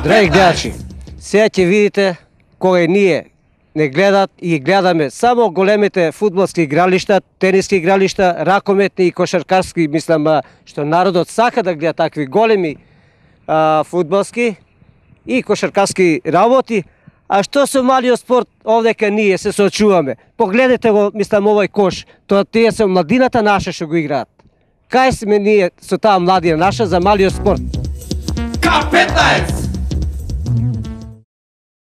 Драги гледачи, сега ќе видите кога ние не гледат и гледаме само големите фудбалски игралишта, тениски игралишта, ракометни и кошаркарски, мислам, што народот сака да гледа такви големи фудбалски и кошаркарски работи, а што со малиот спорт овдека ние се соочуваме. Погледнете го, мислам, овој кош, тоа тие се младината наша што го играат. Кај сме ние со таа младина наша за малиот спорт? К15!